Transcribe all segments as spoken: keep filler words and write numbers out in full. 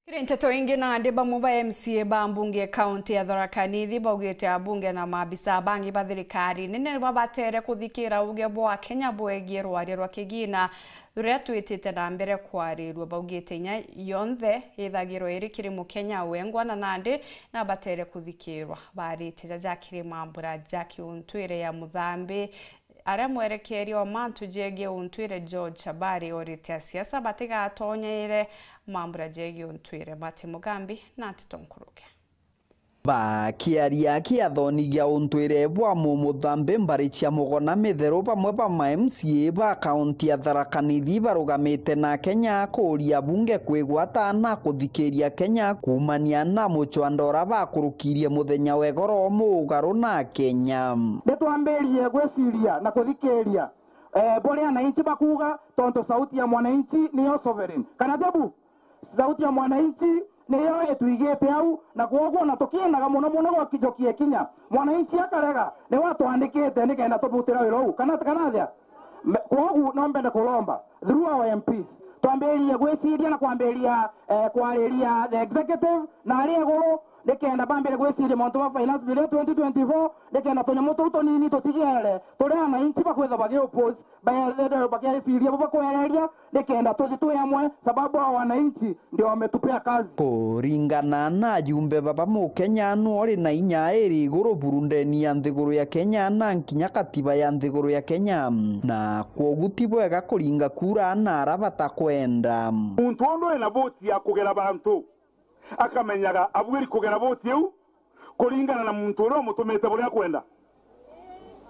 Kiri nteto ingi, nandi bamwe ba M C A ba mbunge kaunti ya Tharaka Nithi baugite abunge na maabisa bangi ba thirikari nene babatere kuthikira uge bwa Kenya bwegie rwaria rwa kigina ruria twitite na mbere kwarirua. Baugite inya yonthe ithagirwa iri kiri Mukenya wengwa, na nandi nabatere kuthikirwa. Barite jaja kiri mambura ja kiuntwire ya Muthambi, aria mwerekeria wa mantu jegie untwire George Chabari orite asiasa batigatonyeire mambura jegie untwire. Martin Mugambi na nteto nkuruke. Bakiaria kiathoni gia untwire bwa Mumuthambi mbari cia Mugona Mitheru, bamwe ba ma M C A ba kaunti ya Tharaka Nithi barugamite na Kenya kuuria bunge kwigwata na kuthikiria Kenya kuumania na mucwando uria bakurukirie muthenya wa igoro muugaru na Kenya. Nitwambirie gwiciria na kuthikiria, eh, buria ananchi bakuuga, tontu sauti ya mwananchi niyo sovereign. Kana tebu? Sauti ya mwananchi niyo ituigite au, na kwoguo na tukiendaga muno muno gwakijokia kinya mwananchi akarega, niwe atwandikite nikenda tubutira wira uu. Kana, kana atia? Me-, kwoguo no mbende kuromba through our M Ps, twambiririe gwiciria na kwambiriria, eh, kwariria the executive na aria iguru, nikenda bambire gwiciria mauntu ma finance bill ya twenty twenty-four, nikenda tunyamu tuu tunini tutigere turi ananchi bakwithwa bagi oppose, baethwe bakieciria bo bakwereria, nikenda tuthi twi amwe, sababu hao wananchi ndio wametupea kazi. Kuringana na ajumbe baba, Mukenya nu uri na inya iri iguru buru ndeni ya nthiguru ya Kenya na nkinya katiba ya nthiguru ya Kenya, na kwogu ti bwega kuringa kura na ara batakwenda. Muntu undu ena voti ya kugera bantu akamenyaga abwiri kugera voti iu kuringana na muntu uria umutumite buria akwenda.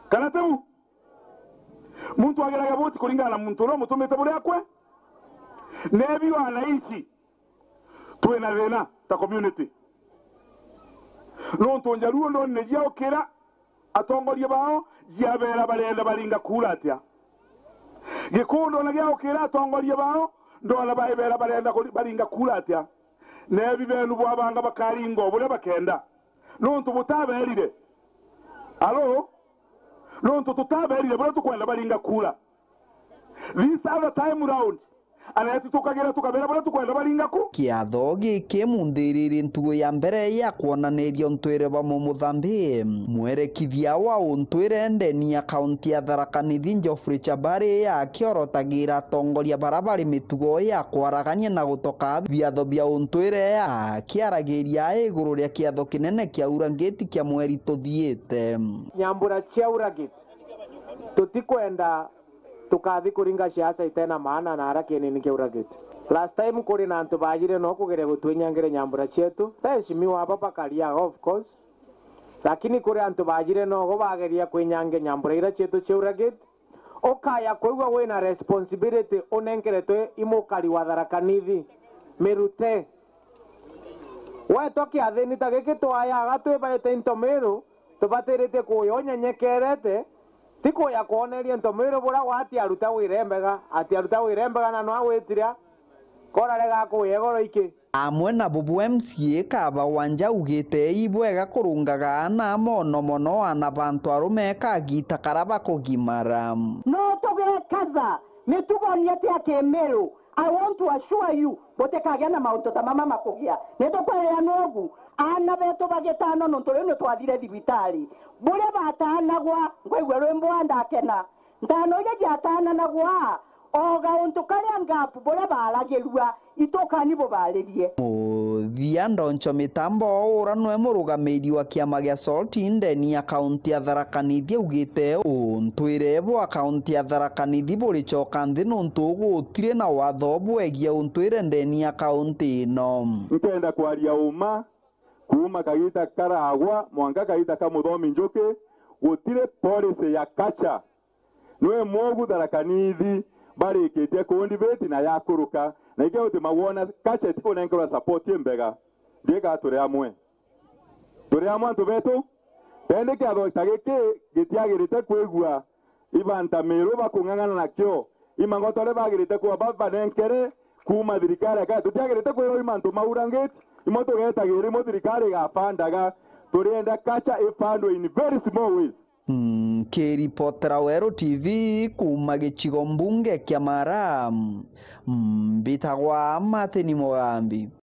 Kana tiu? Muntu ageraga voti kuringana na muntu uria umutumite buria akwe. Nebi wanaici twina thina ta community. Nontu Njaruo ndonire jiaukira atongoria bao jiabera barenda baringa kura atia. Gikuyu ndona giaukira atongoria bao, ndona baibera barenda kuri-, baringa kura atia. Nebi benu bwabanga bakaringa o buria bakenda. Nontu butaberire. Alo? Nontu tutaberire buria tukwenda baringa kura. This other time round, aneti tukagira tukabera buria tukwenda baringa ku. Kiatho giki munthiriri ntugu ya mbere ya kwonaniria untwire bwa Mumuthambi. Mwerekithia wa untwire ndeni ya kaunti ya Tharaka Nithi Geoffrey Chabari akiorotagira atongoria bara bari mitugo ya kwaragania na gutoka biatho bia untwire, akiaragiria iguru ria kiatho kinene kia Aura Gate kia mweri tuthiite. Nyambura cia Aura Gate, tutikwenda tukathi kuringa siasa itena maana na ara kienini kia Aura Gate. Last time kuri na antu baajire no kugeria gutwinyangire nyambura cietu. Eheshimiwa aba bakaria, of course. Lakini kuri antu baajire nogo bageria kwinyangia nyambura ira cietu cia Aura Gate. Ukaya kwigua wina responsibility unenkeretwe i mukari wa Tharaka Nithi. Mirute. Wetwa kiathini ta giki twayaga twibaite into miru, tubatiritie kuya unyenyekerete, ti kuya kwoneria into miru buria wati aruta wira mbega, ati aruta wira mbega na no agwitire, korarega kuya igoro iki. Amwe na bubu M C A Kaba Wanja augite ibwega kurungaga ana mono mono ana bantu arume kagita kara bakugimara. No tugekaza mitugo nietu ya kimiru. I want to assure you, butikagia na mauntu ta mama makugia. Nitukwerea nugu, aana betu bagitano nontu riu nitwathire thibitari. Buria batanagwa, ngwaigua rwimbo ndakena. Ntano iria ciatananagwa, o gauntu karia ngapu buria baragirua, itukani bubaririe. Muthia, Ndoncho Mitambo, ura nwe murugamiri wa kiama gia SALT ndeni ya kaunti ya Tharaka Nithi, augite untwire bwa kaunti ya Tharaka Nithi buricoka nthi nontu gutiri na watho bwegie untwire ndeni ya kaunti ino. Nkenda kwaria uma, kuuma kagita karagwa mwanka kagita ka Muthomi Njuki, gutiri policy ya culture. Nwe mwogu Tharaka Nithi barikitie kundibeti na yakuruka, na ikio uti magwona culture itikunenkerwa support imbega. Ndiga turi amwe. Turi amwe antu betu. Tendi kiatho ta giki gitiagirite kwigua ibanta miru bakung'ang'ana nakio. Imangoto aria bagirite kuba babanenkere kuuma thirikari ya Kenya. Tutiagirite kwirwa imantu maurangite. Imwe tugetagira imwe thirikari igabandaga. Turienda culture ifandwe in very small ways. Nkiripotera Weru T V kuuma gicigo mbunge kia Mara, mbitagwa Martin Mugambi.